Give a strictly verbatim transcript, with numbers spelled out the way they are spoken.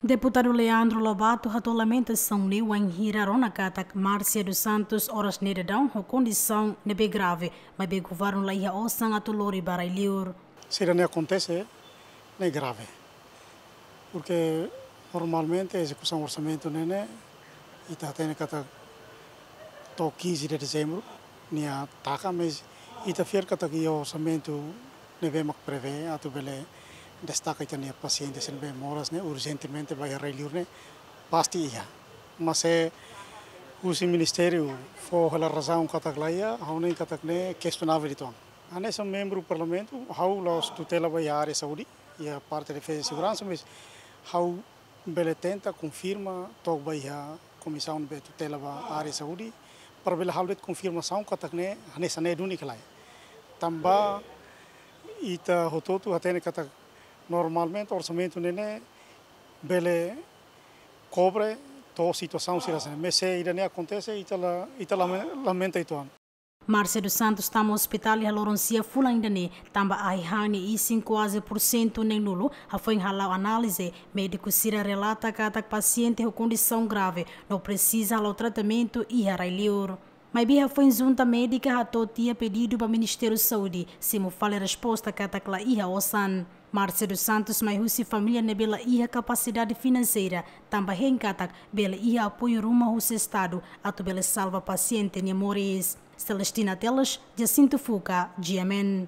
Deputadu Leandro Lobato hato'o lamentasaun ne'e wainhira rona katak Márcia dos Santos oras ne'e daudaun ho kondisaun ne'ebé grave, maibé governu la iha osan atu lori ba rai-li'ur. Sira ne'e akontese ne'e grave. Porque normalmente ezekusaun orsamentu ne'e ne'e ita hatene katak to'o quinze de dezembro nia taka, mas ita fiar katak iha orsamentu ne'ebé mak prevee atu bele destaka ita-nia pasiente sira ne'ebé moras ne'e urjentemente ba iha rai-li'ur ne'e pasti iha. Mas se husi ministériu fó hela razaun katak la iha, ha'u hanoin katak ne'e questionável uitoan. Hanesan membru parlamentu, ha'u la'ós tutela ba iha área saúde, iha parte defeza i seguransa, mas ha'u bele tenta konfirma to'ok ba iha komisaun ne'ebé tutela ba área saúde, para bele halo de'it konfirmasaun katak ne'e hanesan ne'e duni ka lae. Tanba ita hotu-hotu hatene katak normalmente orsamentu ne'e ne'e bele kobre to'o situasaun sira hanesan ne'e. Mas se ida-ne'e akontese, ita la, ita lame-, lamenta uitoan. Márcia dos Santos tama ospitál iha loron sia fulan ida-ne'e, tanba ai-han nia isin kuaze pursentu neen-nulu, hafoin hala'o análize, médiku sira relata katak pasiente ho kondisaun grave, no presiza hala'o tratamentu iha rai-li'ur. Maibé hafoin junta médika hato'o tiha pedidu ba Ministériu Saúde, simu fali resposta katak la iha osan. Márcia dos Santos mai husi família ne'ebé la iha kapasidade finanseira, tanba hein katak bele iha apoiu ruma husi Estadu atu bele salva pasiente nia moris. Celestina Teles, Jacinto Fuca, G M N.